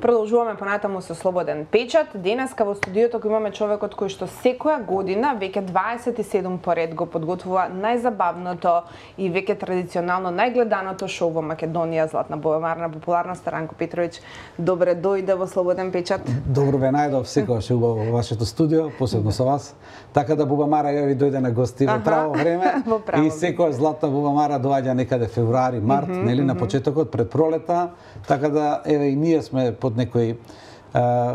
Продолжуваме понатаму со Слободен печат. Денеска во студиото го имаме човекот кој што секоја година, веќе 27 поред, го подготвува најзабавното и веќе традиционално најгледаното шоу во Македонија, Златна бубамара на популарноста. Ранко Петровиќ, добре дојде во Слободен печат. Добро ве најдов, секогаш е убаво во вашето студио, посебно со вас. Така да бубамара ја ви дојде на гости во право време. И секогаш Златна бубамара доаѓа некаде февруари, март, нели, на почетокот пред пролета. Така да еве и ние сме под некој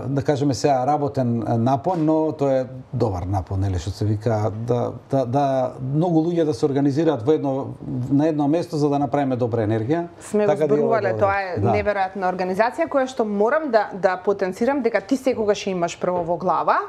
да кажеме сега работен напон, но тоа е добар напон, нели, што се вика, да многу луѓе да се организираат на едно место за да направиме добра енергија. Сме го зборувале, тоа е неверојатна организација која што морам да потенцирам дека ти секогаш имаш прво во глава.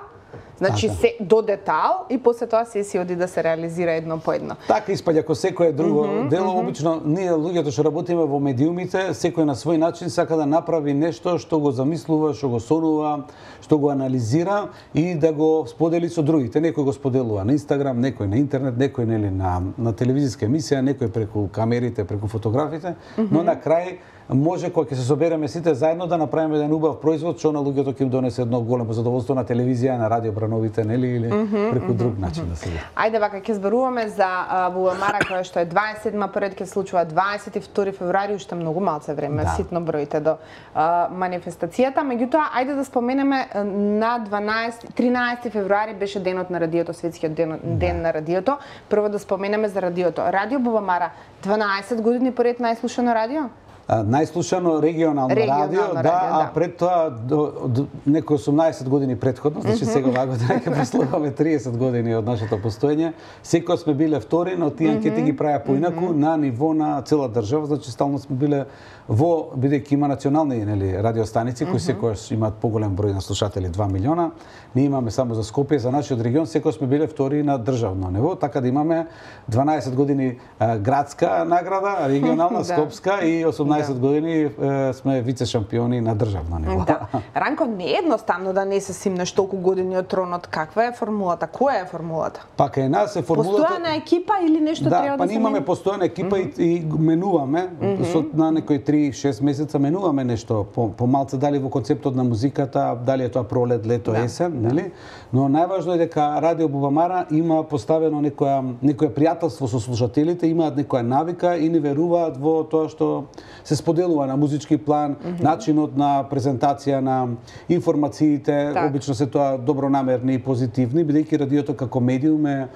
Значи се до детал и после тоа се си оди да се реализира едно по едно. Така испаѓа како секое друго дело, обично ние луѓето што работиме во медиумите, секој на свој начин сака да направи нешто што го замислува, што го сонува, што го анализира и да го сподели со другите. Некој го споделува на Инстаграм, некој на интернет, некој нели на телевизиска емисија, некој преку камерите, преку фотографите, но на крај може кога ќе се собереме сите заедно да направиме еден убав производ што на луѓето ќе им донесе едно големо задоволство на телевизија, на радио брановите, нели, или преку друг начин да се. Ајде вака ќе зборуваме за бубамара која што е 27-ма поред, ќе случува 22 февруари, уште многу малце време, ситно броите до манифестацијата. Меѓутоа, ајде да споменеме на 13 февруари беше денот на радиото, светскиот ден на радиото. Прво да споменеме за радиото. Радио Бубамара 12 години поред најслушано радио? Најслушано регионално радио, а пред тоа некои 18 години претходно, значи сега оваа година ќе прославаме 30 години од нашето постоење. Секој сме биле втори, но тие анкети ги правеа поинаку на ниво на цела држава, значи стално сме биле во, бидејќи има национални, нели, радиостаници кои секогаш имаат поголем број на слушатели, 2 милиона. Ние имаме само за Скопје, за нашиот регион секогаш сме биле втори на државно ниво, така да имаме 12 години градска награда, регионална, скопска и 18 години сме вице шампиони на државно ниво. Да. Ранко, не е едноставно да не се симнеш толку години од тронот. Каква е формулата? Која е формулата? Па кај нас е формулата постојана екипа или нешто треба да се па имаме постојана екипа и менуваме на некои 3-6 месеца менуваме нешто по малце, дали во концептот на музиката, дали е тоа пролет, лето, есен, нели? Но најважно е дека Радио Бубамара има поставено некоја пријателство со слушателите, имаат некоја навика и ни веруваат во тоа што се споделува на музички план, начинот на презентација на информациите, обично се тоа добронамерни и позитивни, бидејќи радиото како медиум е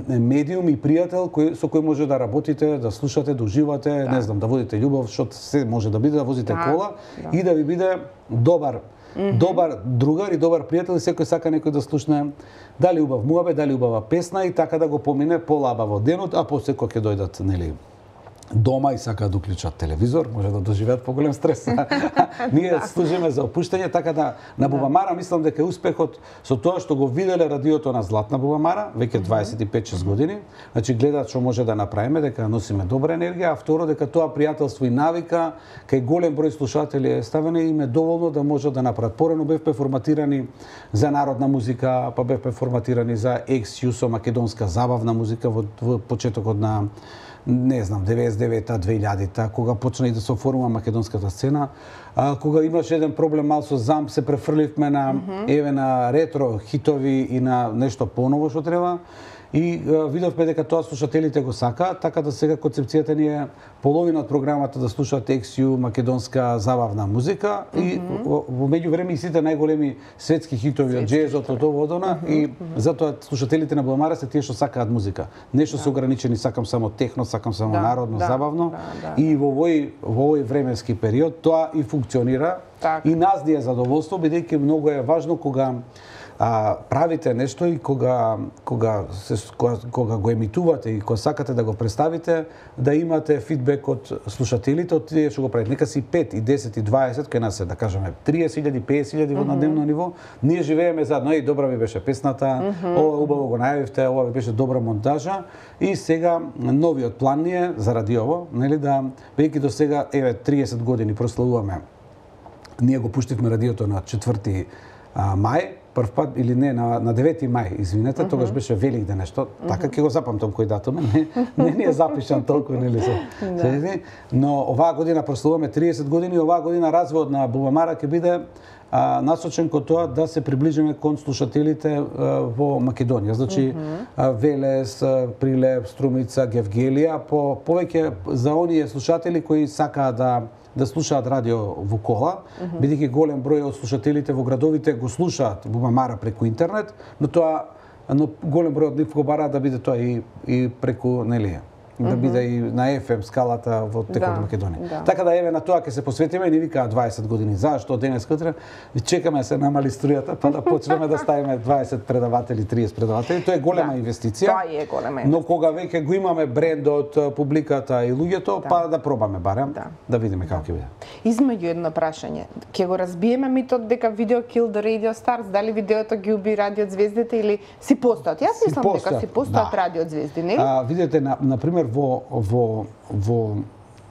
медиум и пријател со кој може да работите, да слушате, да уживате, не знам, да водите љубов, што се може да биде, да возите кола и да ви биде добар другар и добар пријател, и секој сака некој да слушне дали убав муабет, дали убава песна и така да го помине полабаво денот, а после кога ќе дојдат, нели, дома и сакаат да уклучат телевизор, може да доживеат поголем стрес. Ние служиме за опуштање, така да на Бубамара мислам дека успехот со тоа што го виделе радиото на Златна Бубамара веќе 25-6 години, значи гледаат што може да направиме, дека носиме добра енергија, а второ дека тоа пријателство и навика кај голем број слушатели е ставено и им е доволно да можат да направат. Порано бевме форматирани за народна музика, па бевме форматирани за екс-јусо македонска забавна музика во почетокот на не знам, 99-та, 2000-та, кога почна и да се оформува македонската сцена, кога имаше еден проблем мал со замп, се префрливме на еве на ретро хитови и на нешто поново што треба. И видовме дека тоа слушателите го сакаат, така да сега концепцијата ни е половина од програмата да слушаат екс-ју македонска забавна музика и во меѓувреме и сите најголеми светски хитови од џезот, од оводона и затоа слушателите на Бубамара се тие што сакаат музика. Нешто се ограничени, сакам само техно, сакам само народно, забавно. И во овој временски период тоа и функционира и нас ни е задоволство, бидејќи многу е важно кога правите нешто и кога го емитувате и кога сакате да го представите, да имате фидбек од слушателите, од тие што го правите. Нека си 5 и 10 и 20, кај нас е, да кажеме, 30.000, 50.000 во на дневно ниво. Ние живееме заедно, и добра ви беше песната, ова убаво го најавивте, ова ви беше добра монтажа. И сега новиот план ни е заради ово, нели, да веќе до сега, еве, 30 години прославуваме. Ние го пуштивме радиото на 4 мај, прв пат или не на 9 мај, извинете, тогаш беше Великден нешто. Така ќе го запамтам кој датум, не ни е запишан толку нели се. Но оваа година прославуваме 30 години, оваа година развојот на Бубамара ќе биде насочен кон тоа да се приближиме кон слушателите во Македонија. Значи Велес, Прилеп, Струмица, Гевгелија, повеќе за оние слушатели кои сакаат да слушаат радио во кола, бидејќи голем број од слушателите во градовите го слушаат Бубамара преку интернет, но голем број од нив го бараат да биде тоа и преку нели да биде и на FM скалата во текот на Македонија. Така да еве на тоа ќе се посветиме и ни викаат 20 години. Зашто денес кутре чекаме се намали струјата па да почнеме да ставиме 20 предаватели, 30 предаватели. Тоа е голема инвестиција. Тоа е голема инвестиција. Но кога веќе го имаме брендот, публиката и луѓето, па да пробаме барем, да видиме како ќе биде. Измеѓу едно прашање. Ќе го разбиеме митот дека видео kill the radio stars, дали видеото ги уби радио звездите или си постојат? Јас мислам дека си постојат радио звезди, нели? Видете на пример во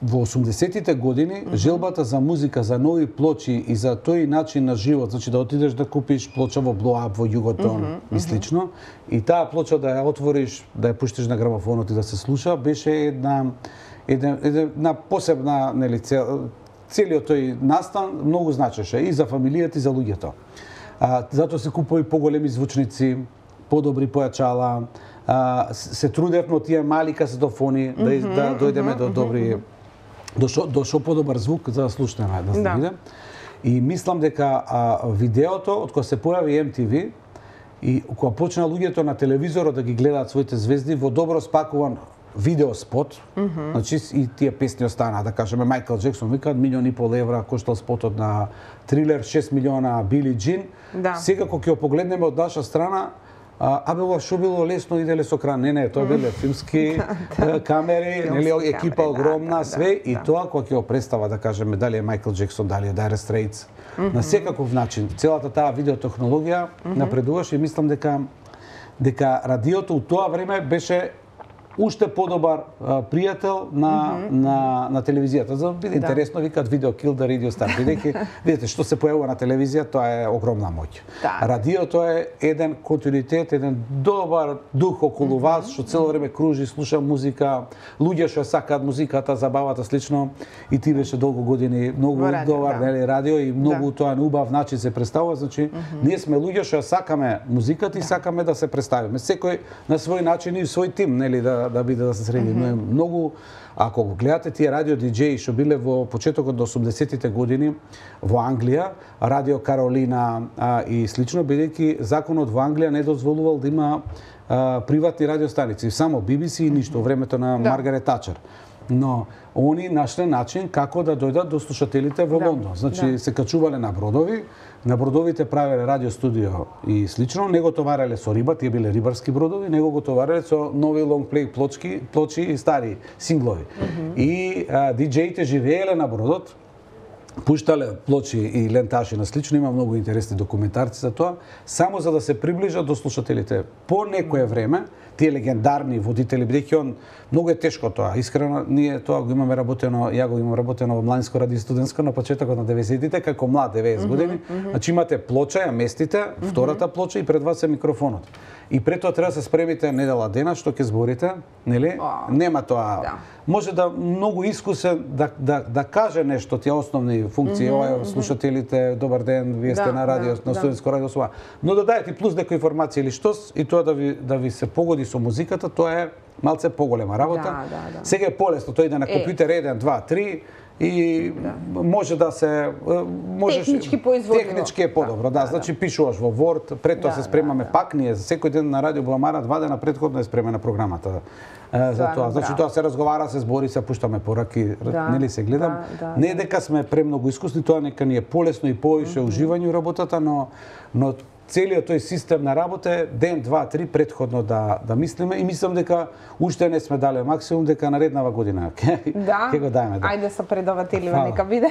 80-тите години желбата за музика, за нови плочи и за тој начин на живот, значи да отидеш да купиш плоча во Blow Up, во Југотон и слично, и таа плоча да ја отвориш, да ја пуштиш на грамофонот и да се слуша, беше една посебна, нели, целиот тој настан многу значеше и за фамилијата и за луѓето. Затоа се купува и поголеми звучници, подобри појачала, се трудевме од тие мали касетофони да дојдеме до добри до шо подобар звук за да слушнеме, да се види. И мислам дека видеото од кога се појави MTV и кога почна луѓето на телевизорот да ги гледаат своите звезди во добро спакуван видеоспот, значи и тие песни останаа, да кажеме Майкл Джексон викаат €1,5 коштал спотот на Трилер, 6 милиона Били Джин. Сега кога ќе погледнеме од наша страна, ова шо било лесно иделе со кран. Не, тоа биле филмски камери, нели екипа огромна, све и тоа кога ќе го представа, да кажеме, дали е Майкл Джексон, дали е Dire Straits, на секаков начин, целата таа видеотехнологија напредуваше и мислам дека радиото у тоа време беше уште подобар пријател на телевизијата. За да биде интересно, викаат видео kill the radio star. Бидејќи, видите, што се појавува на телевизија, тоа е огромна моќ. Радиото е еден континуитет, еден добар дух околу вас, што цело време кружи, слуша музика, луѓе што сакаат музиката, забавата, слично. И ти беше долго години многу добар, нели, радио и многу тоа на убав начин се представува. Значи, ние сме луѓе што сакаме музиката и сакаме да се представиме. Секој на свој начин и свој тим, нели, да биде да се среди. Многу, ако го гледате тие радио диџеи што биле во почетокот до 80-тите години во Англија, Радио Каролина и слично, бидејќи законот во Англија не дозволувал да има приватни радиостаници, само BBC и ништо, времето на Маргарет Тачер. Но они нашле начин како да дојдат до слушателите во Лондон. Значи се качувале на бродови, на бродовите правеле радио студио и слично, не го товареле со риба, тие биле рибарски бродови, него го товареле со нови long play плочи и стари синглови. И диџеите живееле на бродот, пуштале плочи и ленташи на слично, има многу интересни документарци за тоа, само за да се приближат до слушателите. По некое време, тие легендарни водители, бидејќи он многу е тешко тоа. Искрено, ние тоа го имаме работено, ја го имам работено во Младинско радио студентско на почетокот на 90-тите, како млад 90 години. Значи имате плоча, ја местите, втората плоча и пред вас е микрофонот. И пред тоа треба да се спремите недела дена што ќе зборите, нели? Нема тоа. Може да многу искусен да каже нешто, тие основни функции, ова слушателите, добар ден, вие сте на радио, на студентско радио, но да дајете плюс дека информација или штос и тоа да ви се погоди со музиката, тоа е малце поголема работа. Сега е полесно, тој иде на компјутер 1, 2, 3 и може да се технички е подобро, значи пишуваш во Word, пред тоа се спремаме пак ние за секој ден на радио Бубамара 2 дена претходно е спремена програмата. За тоа, значи тоа се разговара, се збори, се пуштаме пораки, нели се гледам. Не е дека сме премногу искусни, тоа нека ни е полесно и повише уживање во работата, но целиот тој систем на работа е ден, два, три предходно да мислиме и мислам дека уште не сме дале максимум, дека нареднава година ќе го дајме. Ајде со предавателиве нека биде.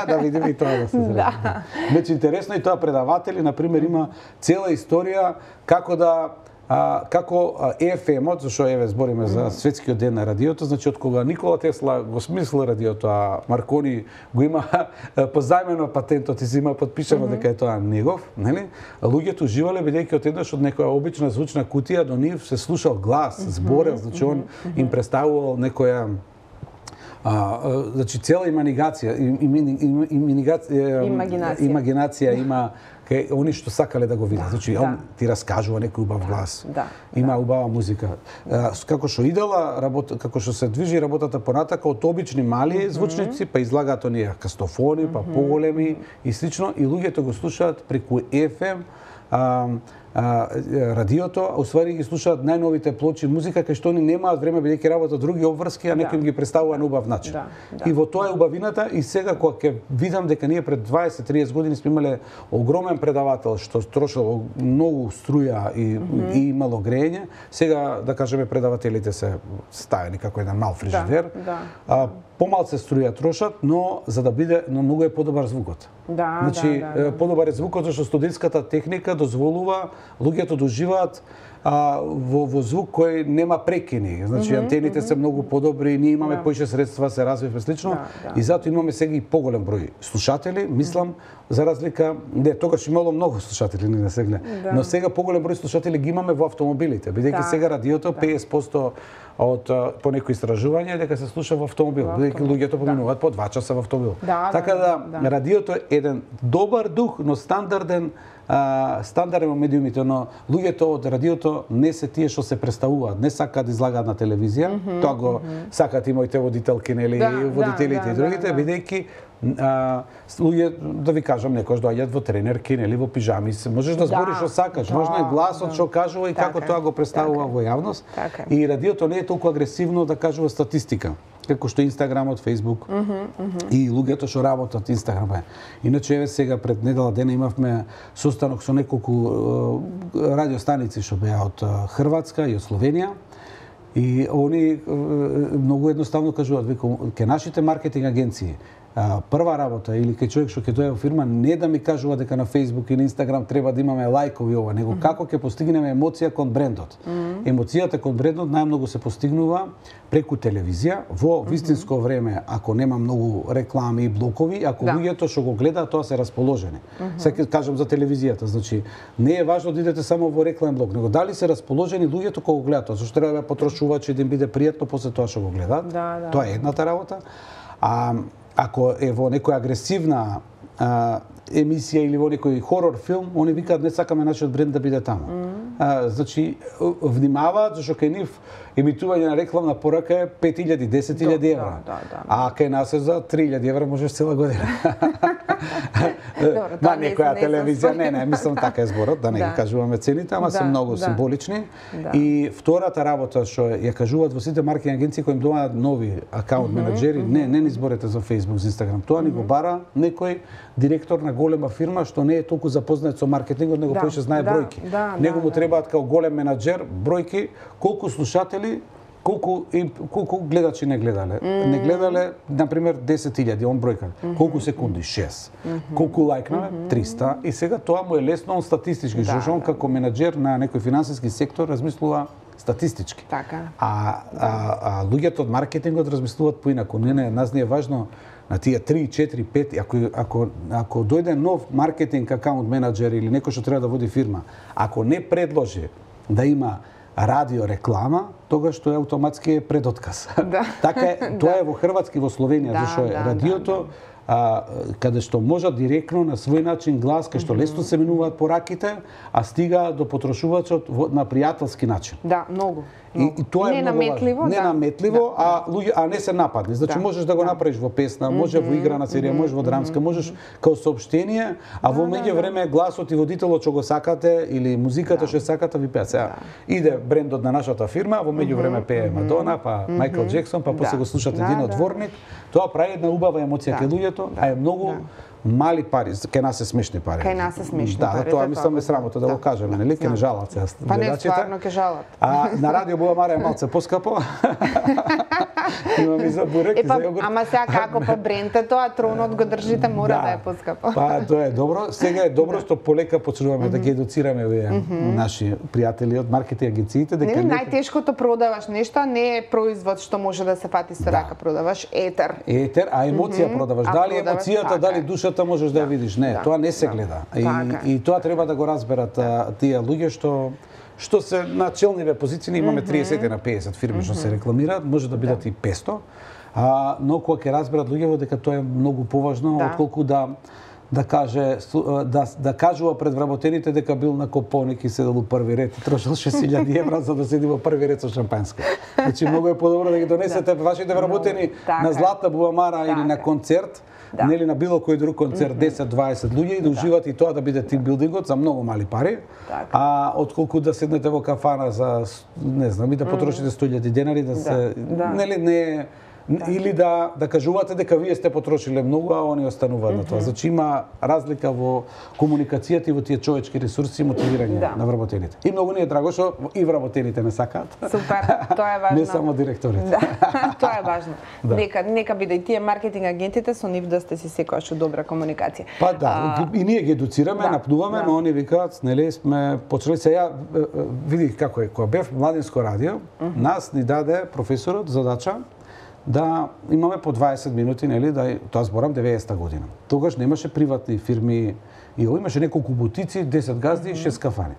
Да видиме и тоа да се среди. Значи интересно и тоа предаватели, на пример, има цела историја како да како FM-от, зашто еве збориме за светскиот ден на радиото, значи од кога Никола Тесла го смисли радиото, а Маркони го има позајмено патентот и си има подпишано дека е тоа негов, нели? Луѓето уживале бидејќи одеднаш од некоја обична звучна кутија до нив се слушал глас, зборел, значи он им представувал некоја значи цела имагинација има кај они што сакале да го видат. Значи он ти раскажува некој убав глас. Има убава музика. Како што идела работа, како што се движи работата понатака од обични мали звучници, па излагаат оние кастофони, па поголеми и слично, и луѓето го слушаат преку FM радиото, а усвари ги слушаат најновите плочи музика кај што они немаат време бидејќи работат други обврски, а некој им ги представува на убав начин. И во тоа е убавината, и сега кога ќе видам дека ние пред 20-30 години сме имале огромен предавател што трошело многу струја и имало грејење, сега да кажеме предавателите се ставени како еден мал фрижидер. Помалце струја трошат, но за да биде, но многу е подобар звукот. Значи, подобар е звукот зашто студентската техника дозволува луѓето да уживаат во звук кој нема прекини. Значи, антените се многу подобри, ние имаме поише средства, се развивме слично, и затоа имаме сега и поголем број слушатели, мислам, за разлика, не, тогаш имало многу слушатели, не сега, но сега поголем број слушатели ги имаме во автомобилите, бидејќи сега радиото 50% од по некои истражувања дека се слуша во автомобил, бидејќи луѓето поминуваат по 2 часа во автомобил. Така да радиото е еден добар дух, но стандарден во медиумите, но луѓето од радиото не се тие што се представуваат, не сакаат да излагаат на телевизија, тоа го сакаат и моите водителки, нели, водителите и другите, бидејќи луѓе, да ви кажам, некојаш доаѓаат во тренерки, нели, во пижами, можеш да збориш што сакаш, важно е гласот што кажува и како тоа го представува во јавност. И радиото не е толку агресивно да кажува статистика, како што Инстаграмот, Фејсбук и луѓето што работат Инстаграм. Иначе еве сега пред недела дена имавме состанок со неколку радиостаници што беа од Хрватска и од Словенија. И они многу едноставно кажуваат, века, ке нашите маркетинг агенции прва работа или кај човек што ќе дојде во фирма, не да ми кажува дека на Facebook и на Instagram треба да имаме лајкови ова, него како ќе постигнеме емоција кон брендот. Емоцијата кон брендот најмногу се постигнува преку телевизија, во вистинско време, ако нема многу реклами и блокови, ако луѓето што го гледаат, тоа се расположени. Сега ќе кажам за телевизијата, значи не е важно да идете само во рекламен блок, него дали се расположени луѓето кога го гледаат, зашто треба да потрошувачи да им биде пријатно после тоа што го гледаат. Тоа е едната работа. Ако е во некоја агресивна емисија или во некој хорор филм, они викаат не сакаме нашиот бренд да биде таму. Значи, внимаваат, зашто кај нив емитување на рекламна порака е 5.000, 10.000 евра. А кај нас е за 3.000 евра можеш цела година. На некоја телевизија, не, мислам така е зборот, да не ги кажуваме цените, ама се многу символични. И втората работа што ја кажуваат во сите маркетинг агенции кои им доаѓаат нови акаунт менаџери, не ни зборете за Facebook, за Instagram, тоа ни го бара некој директор на голема фирма што не е толку запознат со маркетингот, него поише знае бројки. Него му требаат као голем менаџер бројки, колку слушатели, колку гледачи не гледале. Не гледале, например, 10.000, он бројка. Колку секунди? 6. Колку лајкнале? 300. И сега тоа му е лесно, он статистички, зашто он како менаџер на некој финансиски сектор размислува статистички. А луѓето од маркетингот размислуваат поинаку. Не, нас не е важно на тие 3, 4, 5, ако дојде нов маркетинг акаунт менаџер или некој што треба да води фирма, ако не предложи да има радио реклама, тогаш тоа автоматски е предотказ. Така е, тоа е во Хрватска и во Словенија, зашто е радиото каде што можат директно на свој начин глас, кај што лесно се менуваат пораките, а стига до потрошувачот на пријателски начин. Да, многу. И тоа е ненаметливо, ненаметливо, а не се нападни. Значи можеш да го направиш во песна, може во играна серија, може во драмска, можеш као соопштение, а во меѓувреме гласот и водителот што го сакате или музиката што сакате ви пеат. Сега иде брендот на нашата фирма, во меѓувреме пее Мадона, па Майкл Джексон, па после го слушате едиот дворник. Тоа прави една убава емоција кај луѓето, а е многу мали пари, кај нас се смешни пари. Кај нас се смешни пари. Да, тоа мислам е срамота да го кажеме, нели? Ке не жалат се гледачите. Па не, стварно ке жалат. На радио Була Мара е малце поскапо. Имам и за бурек и за јогурт. Ама сега како по брентето, а тронот го држите, мора да е поскапо. Па тоа е добро. Сега е добро што полека почнуваме да ги едуцираме овие наши пријатели од маркетинг агенциите дека најтешкото продаваш нешто, не е производ што може да се фати со рака, продаваш етер. Етер, а емоција продаваш. Дали емоцијата, дали душата можеш да ја видиш? Не, тоа не се гледа. И тоа треба да го разберат тие луѓе што се на челниве позиции, имаме 30 на 50 фирми што се рекламираат, може да бидат и 500. Но кога ќе разберат луѓето дека тоа е многу поважно отколку да кажува пред вработените дека бил на Кополник и седел у први ред и трошил 6.000 евра за да седи во први ред со шампанско. Значи многу е подобро да ги донесете вашите вработени на Златна Буламара или на концерт, нели на било кој друг концерт 10-20 луѓе и да уживате и тоа да биде тимбилдингот за многу мали пари, отколку да седнете во кафана за не знам и да потрошите 100.000 денари да се нели не или да кажувате дека вие сте потрошиле многу, а они остануваат на тоа. Значи има разлика во комуникацијата и во тие човечки ресурси и мотивирање на вработените. И многу ни е драго што и вработените не сакаат. Супер, тоа е важно. Не само директорите. Тоа е важно. Нека биде и тие маркетинг агентите со нив да сте си секогаш добра комуникација. Па да, и ние ги едуцираме, напнуваме, но они викаат, нели сме почнали сега види како е, кога бев младинско радио, нас ни даде професорот задача да имаме по 20 минути, нели, тоа зборам 90-та година. Тогаш немаше приватни фирми, и имаше неколку бутици, 10 газди и 6 кафани.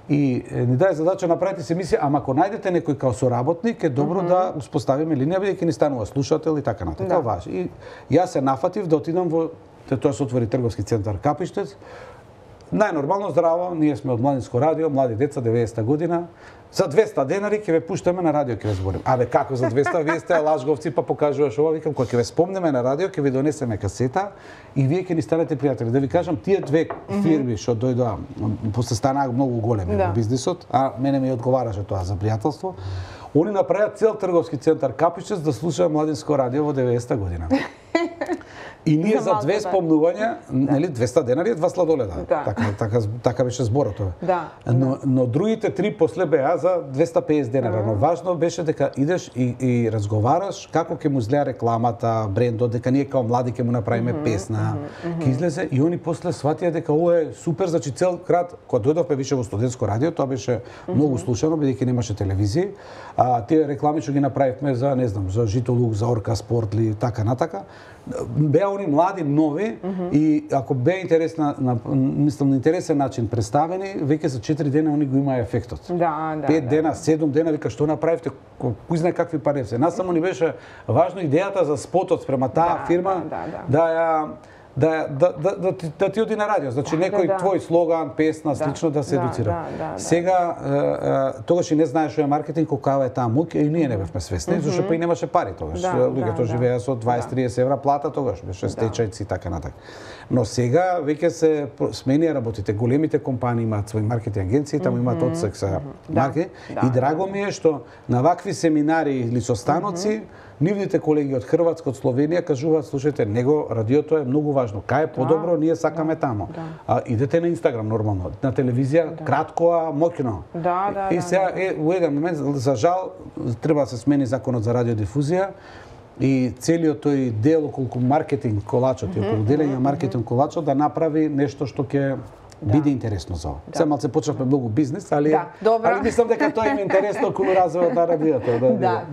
И ни даде задача направите се емисија, ама ако најдете некој као соработник, е добро да успоставиме линија, бидејќи ни станува слушател и така натака. Важи. И јас се нафатив да отидам во тоа се отвори трговски центар Капиштец. Најнормално здраво, ние сме од младинско радио, млади деца, 90-та година. За 200 денари ќе ве пуштаме на радио, ќе ве зборим. Абе како за 200? Вие сте лажговци, па покажуваш ова, викам, кога ќе ве спомнеме на радио, ќе ви донесеме касета и вие ќе ни станете пријатели. Да ви кажам, тие две фирми што дојдоа, после станаа многу големи во бизнисот, а мене ми одговараше тоа за пријателство. Они направија цел трговски центар Капиштец да слуша младинско радио во 90-та година. И ние за две спомнувања, нели 200 денари е 2 сладоледа. Така беше зборот тоа. Но другите три после беа за 250 денари. Но важно беше дека идеш и разговараш како ќе му изгледа рекламата, брендот, дека ние као млади ќе му направиме песна. Ќе излезе и они после сватија дека ова е супер, значи цел крат кога дојдовме више во студентско радио, тоа беше многу слушано бидејќи немаше телевизија. Тие реклами што ги направивме за, не знам, за Житолук, за Орка Спортли, така натака. Беа они млади, нови и ако беа мислам на интересен начин представени, веќе за 4 дена они го имаа ефектот. 5 дена, 7 дена, вика што направивте, кој знае какви пари се. Нас само ни беше важно идејата за спотот спрема таа фирма да ти оди на радио, значи некој твој слоган, песна, слично да се едуцира. Сега тогаш и не знаеш што е маркетинг, каква е таа мука и ние не бевме свесни, зашто па и немаше пари тогаш. Луѓето живееа со 20-30 евра плата тогаш, беше стечајци и така натака. Но сега веќе се сменија работите. Големите компании имаат своји маркетинг агенции, таму имаат одсек за маркетинг и драго ми е што на вакви семинари или состаноци нивните колеги од Хрватска, од Словенија кажуваат, слушајте, него радиото е многу важно. Кај е подобро, ние сакаме таму. Идете на Инстаграм нормално, на телевизија кратко, а моќно. И сега во еден момент за жал треба да се смени законот за радиодифузија и целиот тој дел околу маркетинг колачот и околу делење маркетинг колачот да направи нешто што ќе биде интересно за ова. Сега малце почнавме многу бизнес, али мислам дека тоа им е интересно околу развојот на радиото.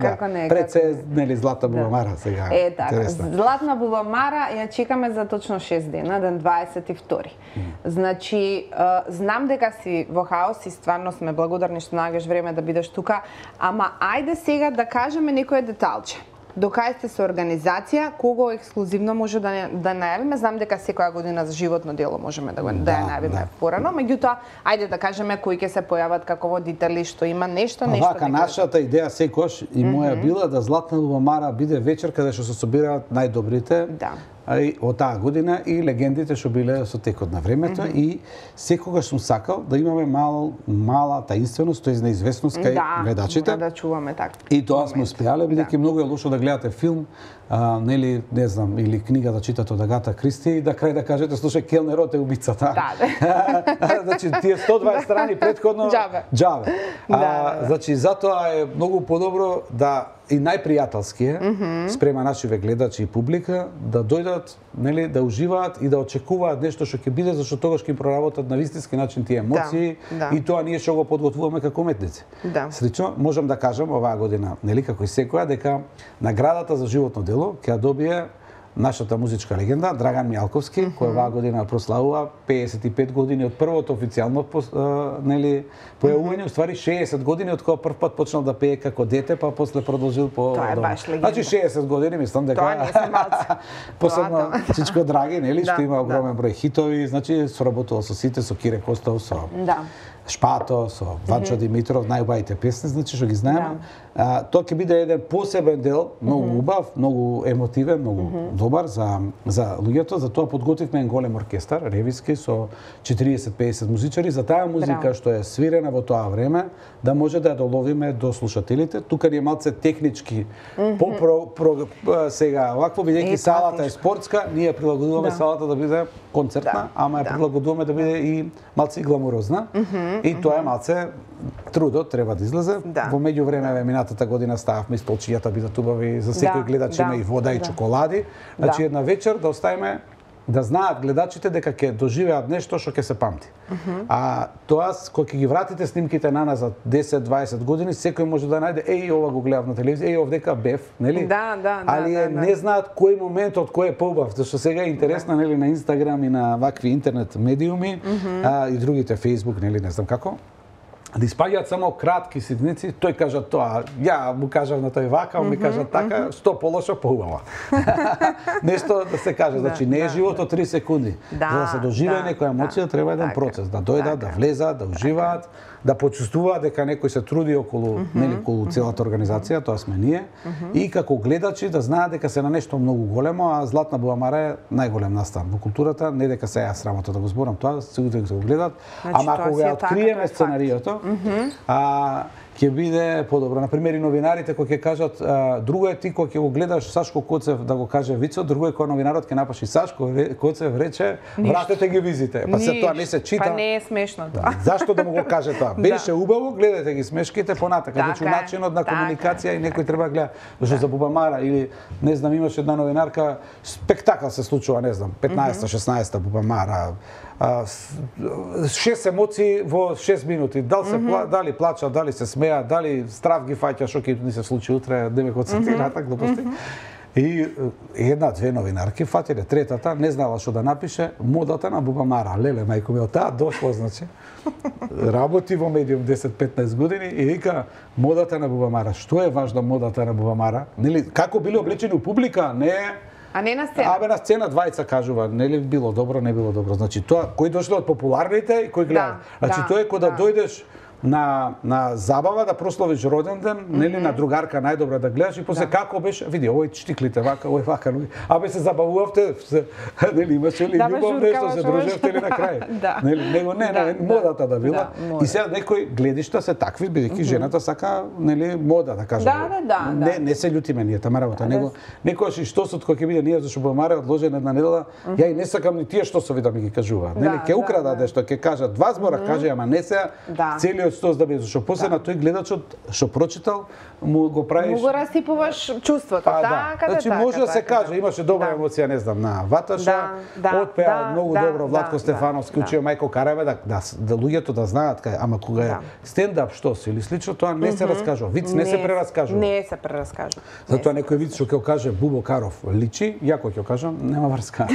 Како не. Пред се, нели, Златна Буламара сега. Така. Златна Буламара ја чекаме за точно 6 дена, ден 22. Значи, знам дека си во хаос и стварно сме благодарни што наоѓаш време да бидеш тука, ама ајде сега да кажеме некое деталче. До кај сте со организација, кого ексклузивно може да најавиме? Знам дека секоја година за животно дело можеме да ја најавиме порано, меѓутоа, ајде да кажеме кои ќе се појават како водители, што има нешто. Вака, нашата идеја секојаш и моја била да Златна Буламара биде вечер каде што се собираат најдобрите од таа година и легендите што биле со текот на времето и секогаш сум сакал да имаме мала таинственост, тоест неизвестност кај гледачите. Да чуваме така. И тоа сме успеале, бидејќи многу е лошо да гледате филм, нели, не знам, или книга да читате од Агата Кристи и да крај да кажете, слушај, келнерот е убицата. Значи, тие 120 страни претходно џабе. Значи, затоа е многу подобро да и најпријателски е спрема нашиве гледачи и публика да дојдат, нели, да уживаат и да очекуваат нешто што ќе биде, зашто тогаш ќе им проработат на вистински начин тие емоции и тоа ние што го подготвуваме како уметници. Слично можам да кажам оваа година, нели, како и секоја, дека наградата за животно дело ќе ја добие нашата музичка легенда Драган Мијалковски, кој оваа година прославува 55 години од првото официјално нели појавување, уствари 60 години од кога прв пат почнал да пее како дете, па после продолжил по Тоа е баш легенда. Значи 60 години, мислам дека тоа не се малце. Посебно Чичко Драги, нели, што има огромен број хитови, значи соработувал со сите, со Кире Костов, со Шпато, со Ванчо Димитров, најубавите песни, значи што ги знаеме. Тоа ќе биде еден посебен дел, многу убав, многу емотивен, многу добар за луѓето, за тоа подготвивме еден голем оркестар, ревиски со 40-50 музичари за таа музика што е свирена во тоа време, да може да ја доловиме до слушателите. Тука ни е малце технички сега, овакво бидејќи салата е спортска, ние прилагодуваме салата да биде концертна, ама ја прилагодуваме да биде и малце гламурозна. И тоа е малце трудот треба да излезе. Во меѓувреме минатата година стававме столчињата бидат убави, за секој гледач има и вода и чоколади. Значи една вечер да оставиме да знаат гледачите дека ќе доживеат нешто што ќе се памти. А тоа кога ќе ги вратите снимките наназад 10-20 години, секој може да најде ова го гледав на телевизија, овдека бев, нели? Али не знаат кој момент од кој е поубав, зашто сега е интересно, нели, на Инстаграм и на вакви интернет медиуми и другите Facebook, нели, не знам како. Да испаѓаат само кратки ситници, тој кажа тоа, ја му кажав на тој вака, ми кажа така, што полошо поубава. Нешто да се каже, значи не е животот 3 секунди. За да се доживее некоја емоција треба еден процес, да дојдат, да влезат, да уживаат, да почувствуваат дека некој се труди околу, нели, околу целата организација, тоа сме ние, и како гледачи да знаат дека се на нешто многу големо, а Златна Буамара е најголем настан во културата, не дека се јас срамота да го зборам тоа, сигурно дека се го гледат, ама ако го откриеме сценариото, ќе биде подобро. Например, и новинарите кои ќе кажат, друго е ти кога ќе го гледаш Сашко Коцев да го каже вицот, друго е кога новинарот ќе напаши Сашко Коцев рече, вратете ги визите. Па се тоа не се чита. Па не е смешно тоа. Зашто да му го каже тоа? Беше убаво, гледате ги смешките понатака. Значи начинот на комуникација и некој треба гледа. Зашто за Бубамара или не знам, имаше една новинарка, спектакл се случува, не знам, 15-16 Бубамара. 6 емоции во 6 минути. Дали плача, дали се смеа, дали страв ги фаќа, што ќе ни се случи утре, да ме концентрирата, глупости. И една-две новинарки фатиле, третата не знала што да напише, модата на Бубамара. Леле, мајко ми, од таа дошло, значи. Работи во медиум 10-15 години и вика модата на Бубамара. Што е важно модата на Бубамара? Нели, како биле облечени у публика, не е. А не на сцена? Абе на сцена двајца кажува, нели било добро, не било добро. Значи тоа кои дошле од популарните и кои гледаат. Значи тоа е кога да дојдеш на забава да прославиш роден ден, нели на другарка најдобра да гледаш и после како беше, види овој штиклите вака, овој вака, абе се забавувавте, нели имаше ли љубов нешто, се дружевте ли на крај? Нели него не, модата да била. И сега некои гледишта се такви, бидејќи жената сака, нели, мода да кажа. Не се љутиме ние тама работа, него некојаш и штосот кој ќе биде ние зашто Бубамара одложена една недела, ја и не сакам ни тие штосови да ми ги кажуваат. Нели ќе украдат нешто, ќе кажат два збора, каже, ама не се целиот штос да биде, зашто после на тој гледачот што прочитал му го правиш. Му го расипуваш чувството, така. Значи може да се каже, имаше добра емоција, не знам, на Ваташа, отпеа многу добро Владко Стефановски, учио Мајко Караеве да луѓето да знаат кај, ама кога е стендап штос или слично тоа не се раскажува, виц не се прераскажува. Не се прераскажува. Затоа некој виц што ќе каже Бубо Каров личи, ја кој ќе кажам, нема врска.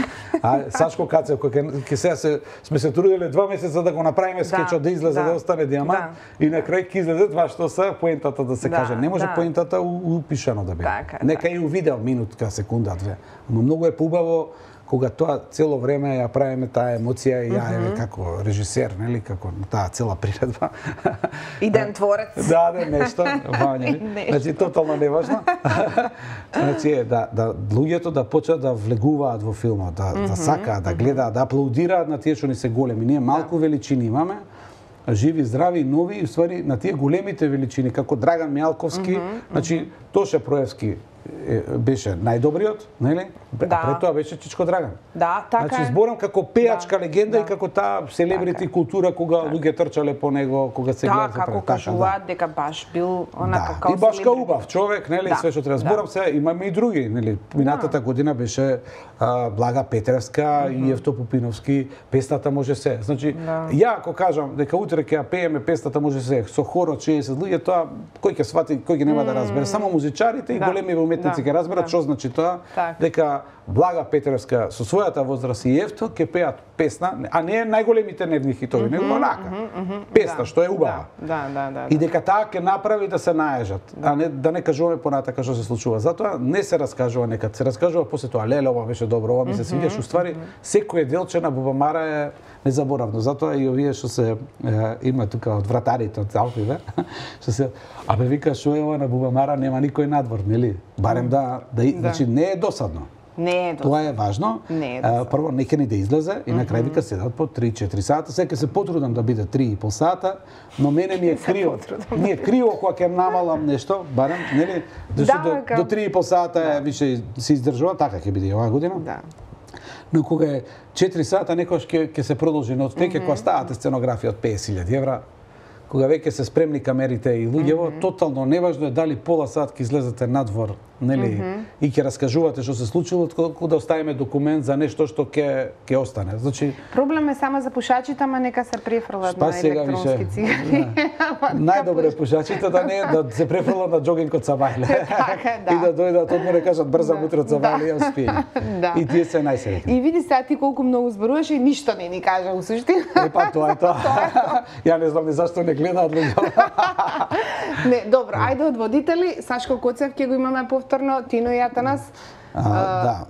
А Сашко Кацев кој ќе сега сме се труделе 2 месеца да го направиме скечот да излезе да остане диамант и на крај ќе излезе тоа што се поентата да се каже. Не може поентата упишано да биде. Нека и у видео минутка, секунда, две. Но многу е поубаво кога тоа цело време ја правиме таа емоција и ја еве како режисер, нели, како таа цела приредба. Иден творец. Да, нешто, Вања. Значи тотално неважно. Значи да луѓето да почнат да влегуваат во филмот, да сакаат, да гледаат, да аплаудираат на тие што ни се големи. Ние малку величини имаме, живи, здрави, нови, и ствари на тие големите величини, како Драган Мијалковски, значи Тоше Проевски, беше најдобриот, нели? А пред тоа беше Чичко Драган. Да, така значи, зборам како пејачка легенда и како таа селебрити култура кога луѓе трчале по него, кога се гледа за како кажуваат дека баш бил онака како и баш убав човек, нели, све што треба. Зборам се, имаме и други, нели. Минатата година беше Блага Петревска и Евто Пупиновски, песната може се. Значи, ја ако кажам дека утре ќе ја пееме песната може се со хор од 60 луѓе, тоа кој ќе свати, кој ќе нема да разбере, само музичарите и големи уметници ќе разберат што значи тоа, дека Блага Петревска со својата возраст и Евто ќе пеат песна, а не најголемите нивни хитови, него онака. Песна што е убава. И дека таа ќе направи да се наежат, а не да не кажуваме понатака што се случува. Затоа не се раскажува некад, се раскажува после тоа, леле, ова беше добро, ова ми се свиѓаш, уствари секое делче на Бубамара е незаборавно. Затоа и овие што се има тука од вратарите од Алпиве, што се вика што е ова на Бубамара нема никој надвор, нели? Барем значи не е досадно. Не е досадно. Тоа е важно. Прво нека ни да излезе и на крај вика седат по 3-4 сата. Сега се потрудам да биде 3,5 сата, но мене ми е криво. Ми е криво кога ќе намалам нешто, барем, нели? Зашто до 3,5 сата више се издржува, така ќе биде оваа година. Да. Но кога е 4 сата некош ќе се продолжи, но веќе кога ставате сценографија од 50.000 евра, кога веќе се спремни камерите и луѓево, тотално неважно е дали пола сат ќе излезете надвор, нели, и ќе раскажувате што се случило, отколку да оставиме документ за нешто што ќе остане. Значи проблем е само за пушачите, ама нека се префрлат на електронски цигари. Најдобре пушачите да не да се префрлат на џогинг од Сабајле. И да дојдат одмор и кажат брза утре од Сабајле ја успеем. И тие се најсреќни. И види сега ти колку многу зборуваш и ништо не ни кажа у суштина. Па тоа е тоа. Ја не знам ни зашто не гледаат луѓе. Не, добро, ајде од водители, Сашко Коцев ќе го имаме повторно, Тино и Атанас. Да,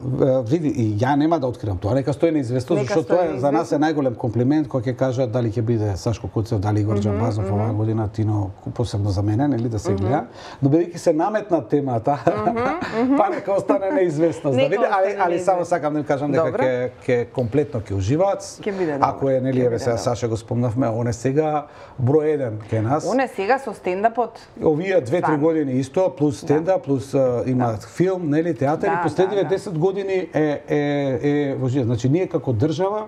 види, и ја нема да откривам тоа, нека стои неизвестно, зашто тоа за нас е најголем комплимент кога ќе кажат дали ќе биде Сашко Коцев, дали Игор Џамбазов оваа година, Тино посебно за мене, нели да се гледа. Но бидејќи се наметна темата, па нека остане неизвестност. Да види, али само сакам да им кажам дека ќе комплетно ќе уживаат. Ако е нели еве сега Саша го спомнавме, он е сега број 1 кај нас. Он е сега со стендапот. Овие 2-3 години исто, плюс стендап, плюс има филм, нели театар. Последниве 10 години е значи ние како држава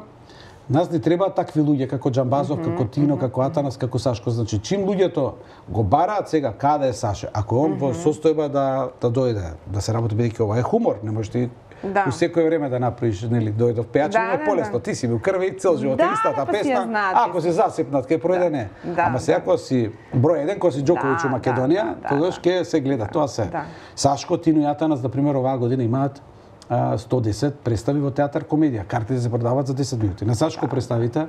нас ни треба такви луѓе како Џамбазов, како Тино, како Атанас, како Сашко. Значи чим луѓето го бараат сега каде е Саша, ако он во состојба да дојде, да се работи, бидејќи ова е хумор, не можеш ти у секое време да направиш, нели, дојдов пејачење е полесно, ти си во крви цел живот истата песна, ако се засипнат ќе пројде не. Ама сега кога си број 1, кога си Џоковиќ у Македонија, тогаш ќе се гледа, тоа се. Сашко, Тино и Атанас, например, оваа година имаат 110 представи во театар комедија. Картите се продаваат за 10 минути. На Сашко представите,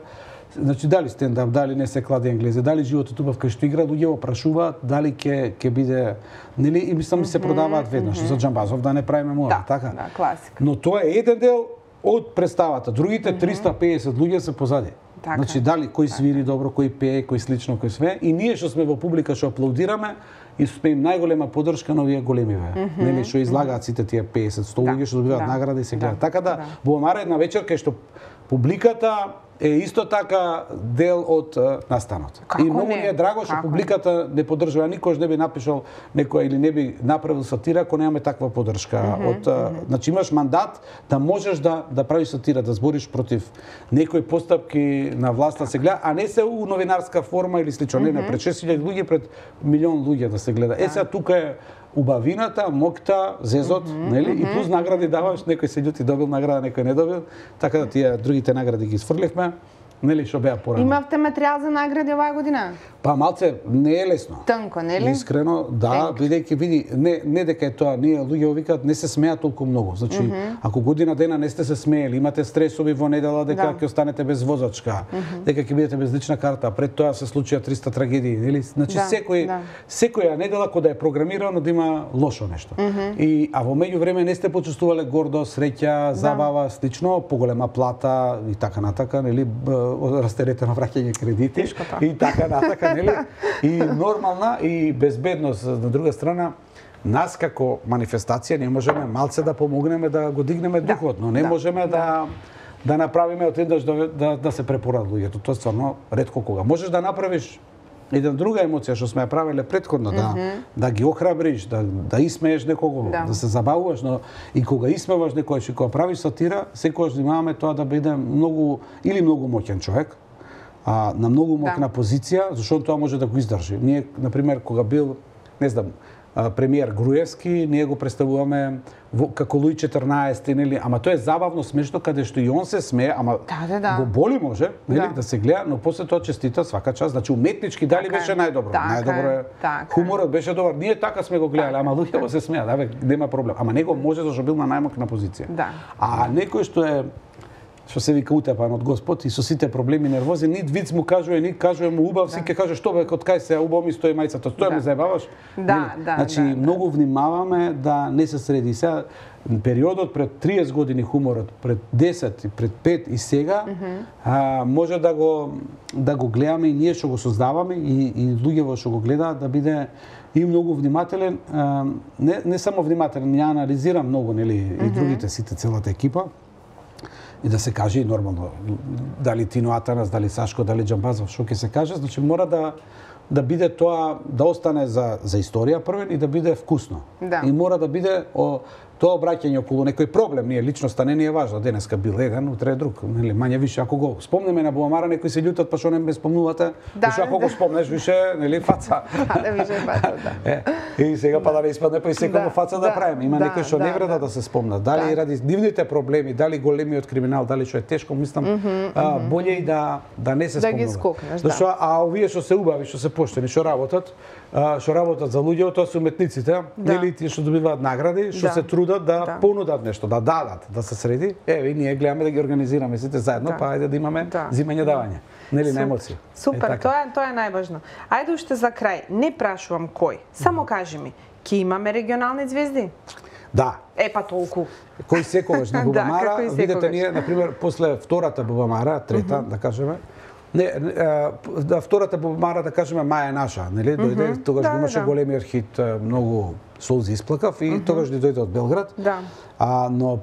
значи дали стендап, дали не се клади енглезе, дали животот убав кај што игра, луѓе прашуваат дали ќе биде, нели, и мислам се продаваат веднаш за Џамбазов да не правиме мора, така. Да, класика. Но тоа е еден дел од представата. Другите 350 луѓе се позади. Значи дали кој свири добро, кој пее, кој слично, кој све, и ние што сме во публика што аплаудираме и сме им најголема поддршка на овие големиве. Нели што излагаат сите тие 50-100 луѓе што добиваат награди и се гледаат. Така да Бубамара една вечер кај што публиката е исто така дел од настанот. И многу ми е драго што публиката не поддржува, никош не би напишал некој или не би направил сатира ако немаме таква поддршка од значи имаш мандат да можеш да правиш сатира, да збориш против некои постапки на власта се гледа, а не се у новинарска форма или слично. Не, пред 6.000 луѓе, пред милион луѓе да се гледа. Сега тука е убавината, мокта, зезот, нели? И плюс награди даваш, некој се љути добил награда, некој не добил, така да тие другите награди ги сфрлевме. Нели што беа порано. Имавте материјал за награди оваа година? Па малце не е лесно. Тнко, нели? Искрено, да, бидејќи види, не дека е тоа, ние луѓе викаат не се смеат толку многу. Значи, ако година дена не сте се смеели, имате стресови во недела дека ќе останете без возачка, дека ќе бидете без лична карта, пред тоа се случија 300 трагедии, нели? Значи секоја недела кога е програмирано да има лошо нешто. И а во меѓувреме не сте почувствувале гордост, среќа, забава, слично, поголема плата и така натака, нели? Растеретено враќање кредити и така натака, нели? И нормална и безбедност на друга страна. Нас како манифестација не можеме малце да помогнеме да го дигнеме духот, но не можеме да направиме од еднаш да се препорат луѓето. Тоа стварно ретко кога. Можеш да направиш една друга емоција што сме ја правеле претходно, да ги охрабриш, да исмееш некого, да се забавуваш, но и кога исмеваш некој, и кога правиш сатира, секогаш внимаваме тоа да биде многу моќен човек, на многу моќна позиција, зашто тоа може да го издржи. Ние, например, кога бил, не знам, премиер Груевски, ние го представуваме како Луи 14, нели, ама тоа е забавно, смешно, каде што и он се смее, ама го боли може, нели, да се гледа, но после тоа честита свака час, значи уметнички дали беше најдобро. Најдобро е. Хуморот беше добар. Ние така сме го гледале, ама луѓето се смеат, нема проблем. Ама него може зашто бил на најмокна позиција. А некој што се вика утепан од Господ и со сите проблеми нервози, нит виц му кажува, нит кажува му убав, си ќе каже што бе, од кај се убав ми стои мајцата, тоа ме заебаваш. Значи многу внимаваме да не се среди. Сега периодот пред 30 години хуморот, пред 10 и пред 5 и сега, може да го гледаме и ние што го создаваме и луѓето што го гледаат да биде и многу внимателен, не само внимателен, ја анализирам многу, нели, и другите сите, целата екипа. И да се каже и нормално, дали Тино Атанас, дали Сашко, дали Џамбазов, што ќе се каже, значи мора да биде тоа, да остане за историја првен и да биде вкусно. И мора да биде тоа обраќање околу некој проблем, ние личноста не ни е важно, денеска бил еден, утре е друг, нели, мање више ако го спомнеме на Бубамара, некои се љутат па што не ме спомнувате, зашто ако го спомнеш више, нели, фаца. Више фаца, И сега па да не испадне па и секој фаца да правиме. Има некои што не вреда да се спомнат, дали ради дивните проблеми, дали големиот криминал, дали што е тешко, мислам, боле и да не се спомнува. Да ги скокнеш, Зашто овие што се убави, што се поштени, што работат за луѓето, тоа се уметниците, нели, тие што добиваат награди, што се трудат да понудат нешто, да дадат, да се среди. Еве, ние гледаме да ги организираме сите заедно, па ајде да имаме зимање давање. Нели, на емоции. Супер, тоа е најважно. Ајде уште за крај, не прашувам кој, само кажи ми, ќе имаме регионални звезди? Да. Па толку. Кој секогаш на Бубамара, видете ние, например, после втората Бубамара, трета, да кажеме, втората Бубамара, да кажеме, Маја наша, нели, дојде, тогаш го имаше големиот хит, многу солзи исплакав и тогаш дојде од Белград. Но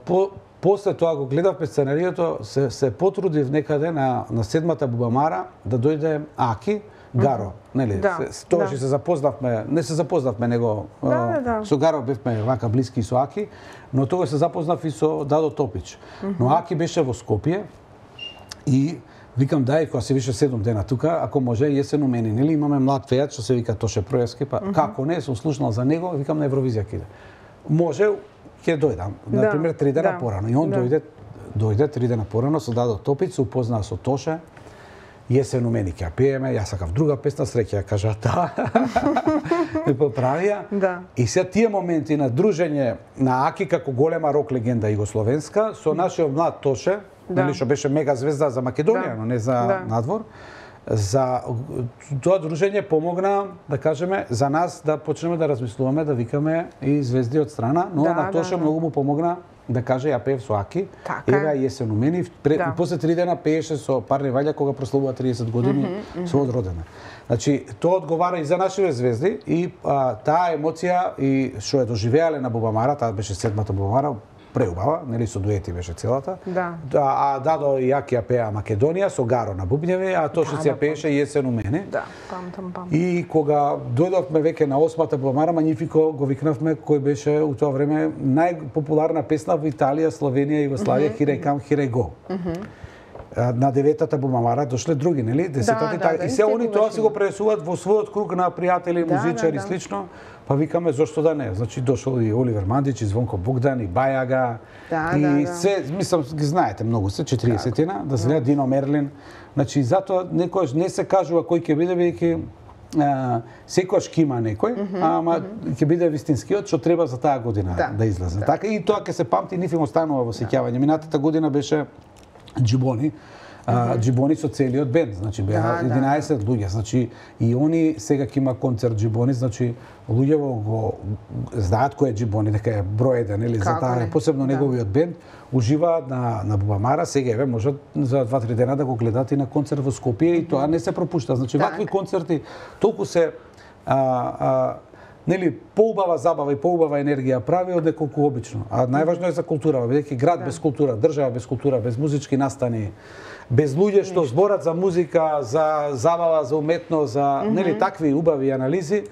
после тоа го гледавме сценариото, се потрудив некаде на седмата Бубамара да дојде Аки Гаро, нели? Тогаш се запознавме, не се запознавме него, со Гаро бевме вака блиски со Аки, но тогаш се запознав и со Дадо Топич. Но Аки беше во Скопје и викам дај, кога се више 7 дена тука, ако може јесен у мене, нели, имаме млад пејач што се вика Тоше Проевски, па како не, сум слушнал за него, викам на Евровизија ќе иде. Може ќе дојдам, на пример 3 дена порано, и он дојде 3 дена порано со Дадо Топич, се упознаа со Тоше. Јесен у мене ќе ја пееме, јас сакав друга песна, среќа ја кажа таа. Ме поправија. И се тие моменти на дружење на Аки како голема рок легенда југословенска со нашиот млад Тоше, нели, што беше мега звезда за Македонија, но не за надвор. За тоа дружење помогна, да кажеме, за нас да почнеме да размислуваме, да викаме и звезди од страна, но на Тоше многу му помогна да каже ја пеев со Аки, еве јесен у мене, после 3 дена пееше со Парни Ваља кога прославува 30 години со Одродена. Значи, тоа одговара и за нашите звезди и таа емоција и што е доживеале на Бубамара, таа беше седмата Бубамара, преубава, нели, со дуети беше целата. А Дадо и Аки ја пеа Македонија со Гаро на бубњеви, а Тоше си ја пееше Јесен у мене. И кога дојдовме веќе на 8-та Бубамара, Манифико го викнавме, кој беше у тоа време најпопуларна песна во Италија, Словенија, Југославија, Here I Come, Here I Go. На 9-та Бубамара дошле други, нели? 10-та и се они тоа си го пренесуваат во својот круг на пријатели, музичари слично. Па викаме зошто да не. Значи дошол и Оливер Мандич, и Звонко Богдан, и Бајага. И се, мислам, ги знаете многу се, 40-тина, да се гледа Дино Мерлин. Значи затоа некојаш не се кажува кој ќе биде, веќе секојаш ќе има некој, ама ќе биде вистинскиот што треба за таа година да излезе. Така и тоа ќе се памти, ниф им останува во сеќавање. Минатата година беше Џибони. Џибони со целиот бенд, значи беа 11 луѓе, значи и они сега ќе има концерт Џибони, значи луѓето го знаат кој е Џибони, дека е број 1, нели, за таа посебно неговиот бенд уживаат на Бубамара, сега еве можат за 2-3 дена да го гледат и на концерт во Скопје и тоа не се пропушта. Значи вакви концерти толку се нели поубава забава и поубава енергија прави од неколку обично. А најважно е за култура, бидејќи град без култура, држава без култура, без музички настани, без луѓе што зборат за музика, за забава, за уметност, за нели такви убави анализи,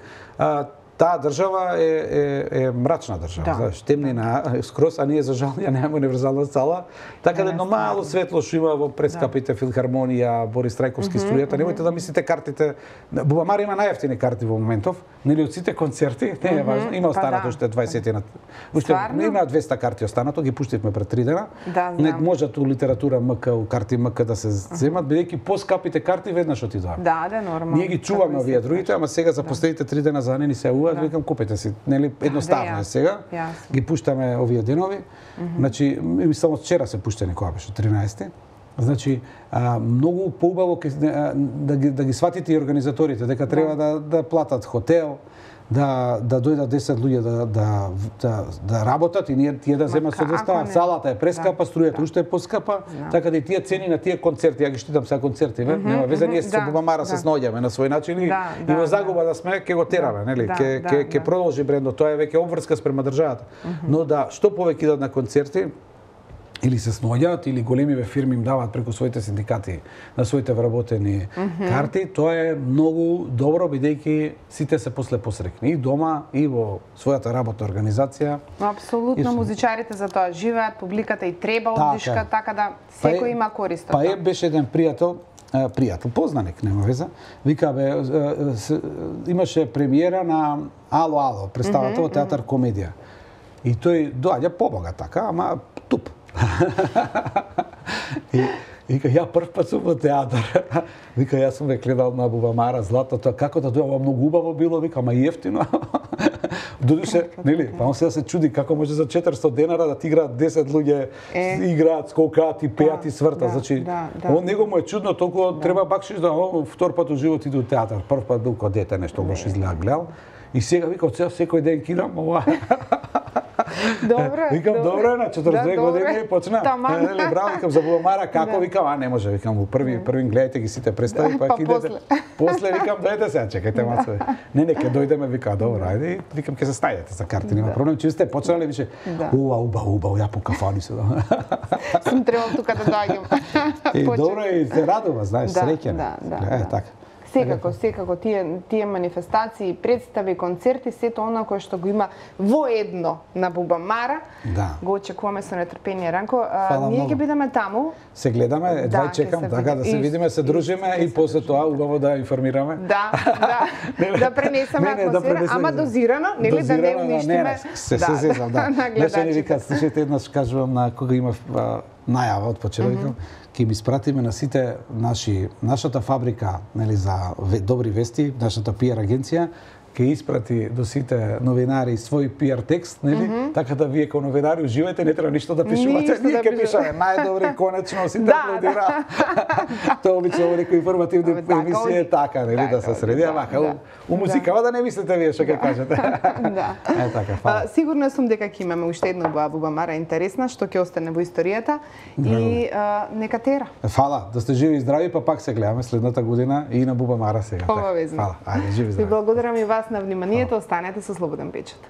таа држава е мрачна држава, знаеш, темнина скроз, а ние за жал ја немаме универзална сала, така да едно мало светло што има во прескапите филхармонија, Борис Трајковски струјата, немојте да мислите картите, Бубамара има најевтини карти во моментов, нели од сите концерти, не е важно, има останато уште 20 уште има 200 карти останато, ги пуштивме пред 3 дена. Не можат у литература МК, у карти МК да се земат, бидејќи поскапите карти веднаш отидоа. Да, нормално. Ние ги чуваме овие другите, ама сега за последните 3 дена за не ни се викам купете си, нели едноставно е сега. Ги пуштаме овие денови. Значи само вчера се пуштени кога беше 13-ти. Значи многу поубаво да ги сватите и организаторите дека треба да платат хотел, да дојдат 10 луѓе да работат и тие да земат со деста. Салата е прескапа, струјата уште е поскапа, така да и тие цени на тие концерти, ја ги штитам сега концерти, нема везе, ние со Бубамара се сноѓаме на свој начин и во загуба да сме, ќе го тераме, нели? Ќе продолжи брендот, тоа е веќе обврска спрема државата. Но да што повеќе идат на концерти, или се сноѓаат, или големиве фирми им даваат преку своите синдикати на своите вработени карти, тоа е многу добро, бидејќи сите се после посрекни, и дома, и во својата работна организација. Апсолутно, музичарите за тоа живеат, публиката и треба оддишка, така да секој има корист од тоа. Па беше еден пријател, познаник, нема веза, вика имаше премиера на Ало, представата во театар комедија. И тој доаѓа побогат така, ама туп. И вика, ја прв пат сум во театар. Вика, јас сум ве гледал на Бубамара, Златото, како да дојава, многу убаво било, вика, ама и ефтино. Додуше, нели, па он сега се чуди како може за 400 денара да ти играат 10 луѓе, играат, скокаат и пеат и свртат. Значи, он него му е чудно, толку треба бакшиш да втор пат во живот иде у театар. Прв пат бил кога дете нешто лош изгледа гледал. И сега вика, од сега секој ден кидам, ова. Добре. Викам, добро, на 42 години почна. Нели, браво, викам за Бубамара, како, викам, не може, викам, први гледајте ги сите представи, па идете. После викам, дојдете сега, чекајте мацо. Не, ќе дојдеме, вика, добро, ајде, викам, ќе се снајдете за карти, нема проблем, че сте почнали, више, убаво, ја по кафани се. Сум требал тука да доаѓам. И добро, и се радува, знаеш, среќен. Е, така. Секако, тие манифестации, представи, концерти, сето она кое што го има во едно на Бубамара, го очекуваме со нетрпение. Ранко, ние ќе бидеме таму. Се гледаме, едва чекам, така да се видиме, се дружиме и после тоа убаво да информираме. Да пренесеме атмосфера, ама дозирано, нели да не уништиме. Се зезам, да. Нешто ни викаат, слушајте, еднаш кажувам на кога има најава од почетокот, ќе ми спратиме на сите нашата фабрика, нели, за добри вести, нашата PR агенција, ќе испрати до сите новинари свој PR текст, нели? Така да вие како новинари уживајте, не треба ништо да пишувате, ние ќе пишеме најдобри, конечно, сите аплодира. Тоа обично во некои информативни емисии е така, нели, да се среди, вака у музикава да не мислите вие што ќе кажете. Е така, фала. Сигурна сум дека ќе имаме уште една Бубамара интересна, што ќе остане во историјата и нека тера. Фала, да сте живи и здрави, па пак се гледаме следната година и на Бубамара сега. Обавезно. Фала, ајде, живи и здрави. Ви благодарам и вас на вниманието, останете со Слободен печат.